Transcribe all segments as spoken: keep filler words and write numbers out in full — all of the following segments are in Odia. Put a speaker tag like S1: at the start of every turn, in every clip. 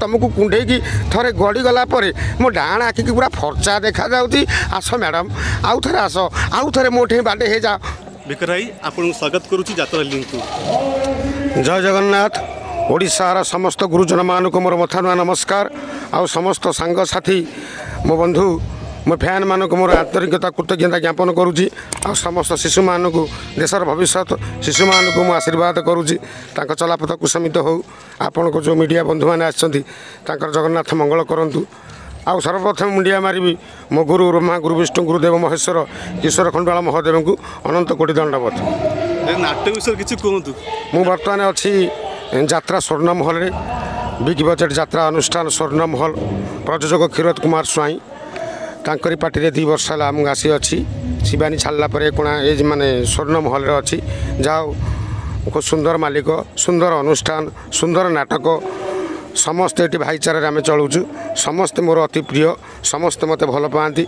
S1: ତୁମକୁ କୁଣ୍ଢେଇକି ଥରେ ଗଡ଼ିଗଲା ପରେ ମୋ ଡାହାଣ ଆଖିକି ପୁରା ଫର୍ଚା ଦେଖାଯାଉଛି। ଆସ ମ୍ୟାଡ଼ାମ୍, ଆଉ ଥରେ ଆସ, ଆଉ ଥରେ ମୋ ଠେଇଁ ବାଡ଼େଇ ହେଇଯାଅ।
S2: ଭିକାରୀ ଭାଇ, ଆପଣଙ୍କୁ ସ୍ୱାଗତ କରୁଛି ଯାତ୍ରା ଲିଙ୍କକୁ।
S1: ଜୟ ଜଗନ୍ନାଥ। ଓଡ଼ିଶାର ସମସ୍ତ ଗୁରୁଜନମାନଙ୍କୁ ମୋର ମଥା ନୂଆ ନମସ୍କାର। ଆଉ ସମସ୍ତ ସାଙ୍ଗସାଥି, ମୋ ବନ୍ଧୁ, ମୋ ଫ୍ୟାନ୍ମାନଙ୍କୁ ମୋର ଆନ୍ତରିକତା କୃତଜ୍ଞତା ଜ୍ଞାପନ କରୁଛି। ଆଉ ସମସ୍ତ ଶିଶୁମାନଙ୍କୁ, ଦେଶର ଭବିଷ୍ୟତ ଶିଶୁମାନଙ୍କୁ ମୁଁ ଆଶୀର୍ବାଦ କରୁଛି, ତାଙ୍କ ଚଲାପଥ କୁସମିତ ହେଉ। ଆପଣଙ୍କ ଯେଉଁ ମିଡ଼ିଆ ବନ୍ଧୁମାନେ ଆସିଛନ୍ତି, ତାଙ୍କର ଜଗନ୍ନାଥ ମଙ୍ଗଳ କରନ୍ତୁ। ଆଉ ସର୍ବପ୍ରଥମେ ମୁଣ୍ଡିଆ ମାରିବି ମୋ ଗୁରୁ ବ୍ରହ୍ମା, ଗୁରୁ ବିଷ୍ଣୁ, ଗୁରୁଦେବ ମହେଶ୍ୱର, କିଶୋର ଖଣ୍ଡୁଆଳ ମହାଦେବଙ୍କୁ ଅନନ୍ତ କୋଟି ଦଣ୍ଡବତ।
S2: ଏ ନାଟକ ବିଷୟରେ କିଛି କୁହନ୍ତୁ।
S1: ମୁଁ ବର୍ତ୍ତମାନ ଅଛି ଯାତ୍ରା ସ୍ୱର୍ଣ୍ଣମହଲରେ, ବିଗ୍ ବଜେଟ୍ ଯାତ୍ରା ଅନୁଷ୍ଠାନ ସ୍ୱର୍ଣ୍ଣମହଲ, ପ୍ରଯୋଜକ କ୍ଷୀରୋଦ କୁମାର ସ୍ୱାଇଁ, ତାଙ୍କରି ପାର୍ଟିରେ ଦୁଇ ବର୍ଷ ହେଲା ମୁଁ ଆସିଅଛି। ଶିବାନୀ ଛାଡ଼ିଲା ପରେ କୋଣା ଏ ମାନେ ସ୍ୱର୍ଣ୍ଣମହଲରେ ଅଛି। ଯାହା ହଉ, ଖୁବ୍ ସୁନ୍ଦର ମାଲିକ, ସୁନ୍ଦର ଅନୁଷ୍ଠାନ, ସୁନ୍ଦର ନାଟକ। ସମସ୍ତେ ଏଠି ଭାଇଚାରାରେ ଆମେ ଚଳୁଛୁ। ସମସ୍ତେ ମୋର ଅତି ପ୍ରିୟ, ସମସ୍ତେ ମୋତେ ଭଲ ପାଆନ୍ତି।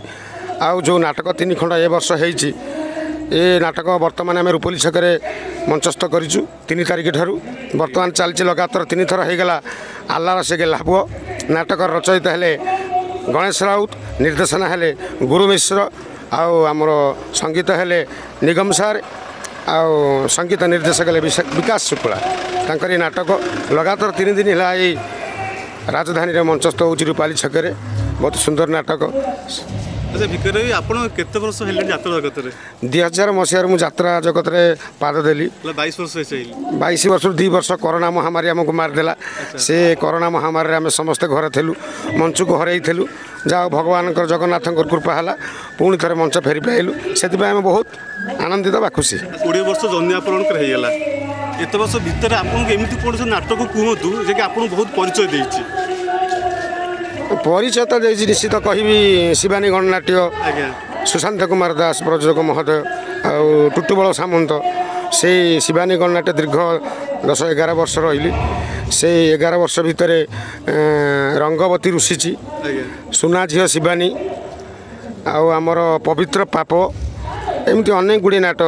S1: ଆଉ ଯେଉଁ ନାଟକ ତିନି ଖଣ୍ଡ ଏ ବର୍ଷ ହେଇଛି, ଏ ନାଟକ ବର୍ତ୍ତମାନ ଆମେ ରୂପଲି ଛକରେ ମଞ୍ଚସ୍ଥ କରିଛୁ ତିନି ତାରିଖ ଠାରୁ, ବର୍ତ୍ତମାନ ଚାଲିଛି ଲଗାତାର ତିନି ଥର ହେଇଗଲା। ଆଲ୍ଲାର ସେ ଗେହ୍ଲା ପୁଅ ନାଟକର ରଚୟିତା ହେଲେ ଗଣେଶ ରାଉତ, ନିର୍ଦ୍ଦେଶନା ହେଲେ ଗୁରୁ ମିଶ୍ର, ଆଉ ଆମର ସଙ୍ଗୀତ ହେଲେ ନିଗମ ସାର୍, ଆଉ ସଙ୍ଗୀତ ନିର୍ଦ୍ଦେଶକ ହେଲେ ବିକାଶ ଶୁକ୍ଳା। ତାଙ୍କର ଏ ନାଟକ ଲଗାତାର ତିନି ଦିନ ହେଲା ଏଇ ରାଜଧାନୀରେ ମଞ୍ଚସ୍ଥ ହେଉଛି ରୂପାଲି ଛକରେ। ବହୁତ ସୁନ୍ଦର ନାଟକ।
S2: ଆଚ୍ଛା ଭିକାରୀ ଭାଇ, ଆପଣ କେତେ ବର୍ଷ ହେଲେଣି ଯାତ୍ରା ଜଗତରେ?
S1: ଦୁଇ ହଜାର ମସିହାରୁ ମୁଁ ଯାତ୍ରା ଜଗତରେ ପାଦ ଦେଲି।
S2: ବାଇଶ ବର୍ଷ ହେଇସାରିଲି।
S1: ବାଇଶ ବର୍ଷରୁ ଦୁଇ ବର୍ଷ କରୋନା ମହାମାରୀ ଆମକୁ ମାରିଦେଲା। ସେ କରୋନା ମହାମାରୀରେ ଆମେ ସମସ୍ତେ ଘରେ ଥିଲୁ, ମଞ୍ଚକୁ ହରେଇଥିଲୁ। ଯାହା ଭଗବାନଙ୍କର ଜଗନ୍ନାଥଙ୍କର କୃପା ହେଲା, ପୁଣି ଥରେ ମଞ୍ଚ ଫେରି ପାଇଲୁ। ସେଥିପାଇଁ ଆମେ ବହୁତ ଆନନ୍ଦିତ ବା ଖୁସି।
S2: କୋଡ଼ିଏ ବର୍ଷ ଜନ୍ମ ଆପଣଙ୍କର ହେଇଗଲା। ଏତେ ବର୍ଷ ଭିତରେ ଆପଣଙ୍କୁ ଏମିତି କୌଣସି ନାଟକ କୁହନ୍ତୁ ଯେ କି ଆପଣଙ୍କୁ ବହୁତ ପରିଚୟ ଦେଇଛି।
S1: ପରିଚୟ ତ ଦେଇଛି ନିଶ୍ଚିତ କହିବି, ଶିବାନୀ ଗଣନାଟ୍ୟ, ସୁଶାନ୍ତ କୁମାର ଦାସ ପ୍ରଯୋଜକ ମହୋଦୟ ଆଉ ଟୁଟୁବଳ ସାମନ୍ତ। ସେଇ ଶିବାନୀ ଗଣନାଟ୍ୟ ଦୀର୍ଘ ଦଶ ଏଗାର ବର୍ଷ ରହିଲି। ସେଇ ଏଗାର ବର୍ଷ ଭିତରେ ରଙ୍ଗବତୀ ରୁଷିଛି, ସୁନା ଝିଅ ଶିବାନୀ, ଆଉ ଆମର ପବିତ୍ର ପାପ, ଏମିତି ଅନେକ ଗୁଡ଼ିଏ ନାଟକ,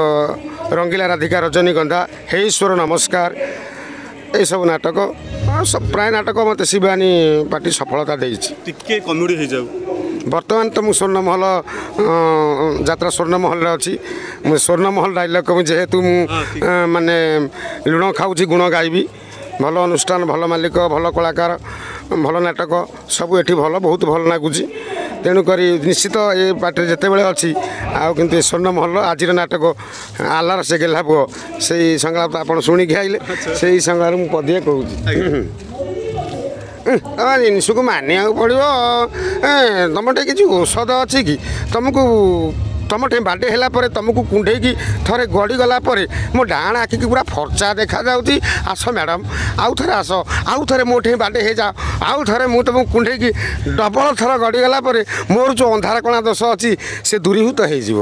S1: ରଙ୍ଗିଲା ରାଧିକା, ରଜନୀଗନ୍ଧା, ହେ ଈଶ୍ୱର ନମସ୍କାର, ଏଇସବୁ ନାଟକ, ପ୍ରାୟ ନାଟକ ମୋତେ ଶିବାନୀ ପାର୍ଟି ସଫଳତା ଦେଇଛି।
S2: ଟିକେ କମେଡ଼ି ହେଇଯାଉ।
S1: ବର୍ତ୍ତମାନ ତ ମୁଁ ସ୍ୱର୍ଣ୍ଣମହଲ ଯାତ୍ରା ସ୍ୱର୍ଣ୍ଣମହଲରେ ଅଛି। ମୁଁ ସ୍ୱର୍ଣ୍ଣମହଲ ଡାଇଲଗ୍ ଯେହେତୁ ମୁଁ ମାନେ ଲୁଣ ଖାଉଛି ଗୁଣ ଗାଇବି। ଭଲ ଅନୁଷ୍ଠାନ, ଭଲ ମାଲିକ, ଭଲ କଳାକାର, ଭଲ ନାଟକ, ସବୁ ଏଠି ଭଲ, ବହୁତ ଭଲ ଲାଗୁଛି। ତେଣୁକରି ନିଶ୍ଚିତ ଏ ପାର୍ଟିରେ ଯେତେବେଳେ ଅଛି। ଆଉ କିନ୍ତୁ ଏ ସ୍ୱର୍ଣ୍ଣମହଲ ଆଜିର ନାଟକ ଆଲ୍ଲାର ସେ ଗେହ୍ଲା ପୁଅ, ସେଇ ସଂଳାପ ଆପଣ ଶୁଣିକି ଆଇଲେ, ସେଇ ସଂଳାପରେ ମୁଁ ପଦିଏ କହୁଛି। ଜିନିଷକୁ ମାନିବାକୁ ପଡ଼ିବ। ତୁମ ଟିକେ କିଛି ଔଷଧ ଅଛି କି? ତୁମକୁ ତୁମ ଠେଇଁ ବାଡ଼େଇ ହେଲା ପରେ ତୁମକୁ କୁଣ୍ଢେଇକି ଥରେ ଗଡ଼ିଗଲା ପରେ ମୋ ଡାହାଣ ଆଖିକି ପୁରା ଫର୍ଚା ଦେଖାଯାଉଛି। ଆସ ମ୍ୟାଡ଼ାମ୍, ଆଉ ଥରେ ଆସ, ଆଉ ଥରେ ମୋ ଠେଇଁ ବାଡ଼େଇ ହେଇଯାଅ, ଆଉ ଥରେ ମୁଁ ତୁମକୁ କୁଣ୍ଢେଇକି ଡବଲ ଥର ଗଡ଼ିଗଲା ପରେ ମୋର ଯେଉଁ ଅନ୍ଧାର କଣା ଦୋଷ ଅଛି ସେ ଦୂରୀଭୂତ ହେଇଯିବ।